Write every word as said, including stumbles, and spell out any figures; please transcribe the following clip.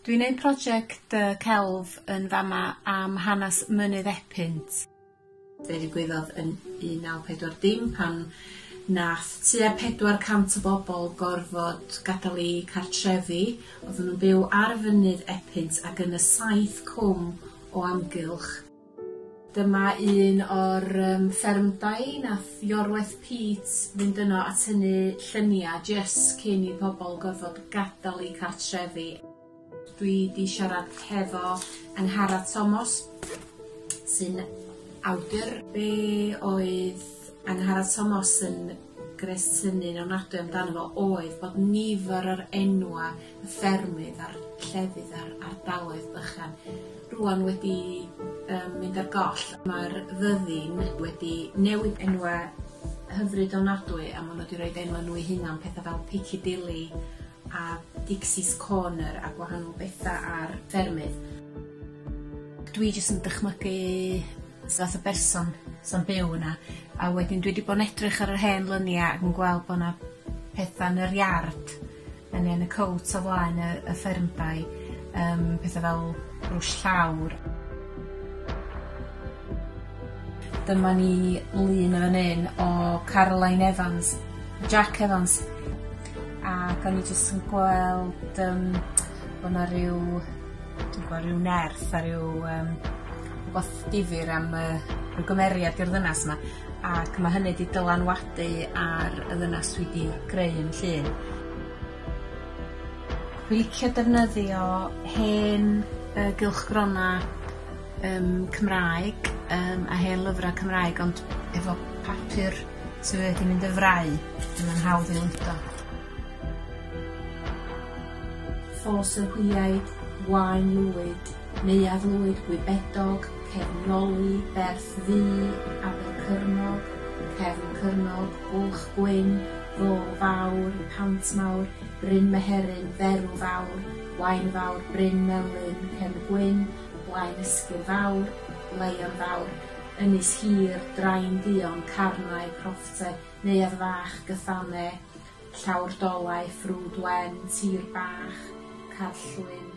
Dwi'n neud prosiect yy celf yn fama am hanes Mynydd Epynt. Be ddigwyddodd yn un naw pedwar dim pan nath tua pedwar cant o bobol gorfod gadal 'u cartrefi odden nw'n byw ar fynydd Epynt ac yn y saith cwm o amgylch. Dyma un o'r yym ffermdai nath Iorwerth Peate fynd yno a tynnu llynia jyst cyn i pobol gorfod gadal 'u cartrefi. Dwi 'di siarad hefo Angharad Tomos sy'n awdur. Be' oedd Angharad Tomos yn gresynu'n ofnadwy amdano fo oedd bod nifer o'r enwa' y ffermydd a'r llefydd a'r ardaloedd bychan rŵan wedi yym mynd ar goll. Ma'r fyddin wedi newid enwa' hyfryd ofnadwy a ma' n'w 'di roid enwa' n'w 'u hunan petha fel Piccadilly a Dixie's Corner a gwahanol betha ar ffermydd. Dwi jyst yn dychmygu fath o berson sa'n byw yna a wedyn dwi 'di bo' yn edrych ar yr hen lynia ac yn gweld bo' 'na petha yn yr iard yn yn y cowt o flaen y y ffermdai yym petha fel brwsh llawr. Dyma ni lun yn fan 'yn o Caroline Evans, Jack Evans ac o'n i jyst yn gweld yym bo' 'na ryw dwi'n gwel' ryw nerth a ryw yym wbath difyr am yy ryw gymeriad i'r ddynas 'ma ac ma' hynny 'di dylanwadu ar y ddynas dwi 'di greu yn llun. Dwi licio defnyddio hen yy gylchgrona yym Cymraeg yym a hen lyfra Cymraeg ond efo papur sydd wedi mynd yn frau, 'dyn ma'n hawdd i ludo. Ffos yr Hwyaid, Waun Lwyd, Neuadd Lwyd, Gwybedog, Cefn Noli, Berth Ddu, Abercyrnog, Cefn Cyrnog, Bwlch Gwyn, Ddôl Fawr, Pant Mawr, Bryn Meheryn, Ferw Fawr, Waun Fawr, Bryn Melyn, Cefn Gwyn, Blaen Ysgwyr Fawr, Leion Fawr, Ynys Hir, Drain Duon, Carnau, Crofftau, Neuadd Fach, Gyffane, Llawr Dolau, Ffrwd Wen, Tir Bach, Carllwyn.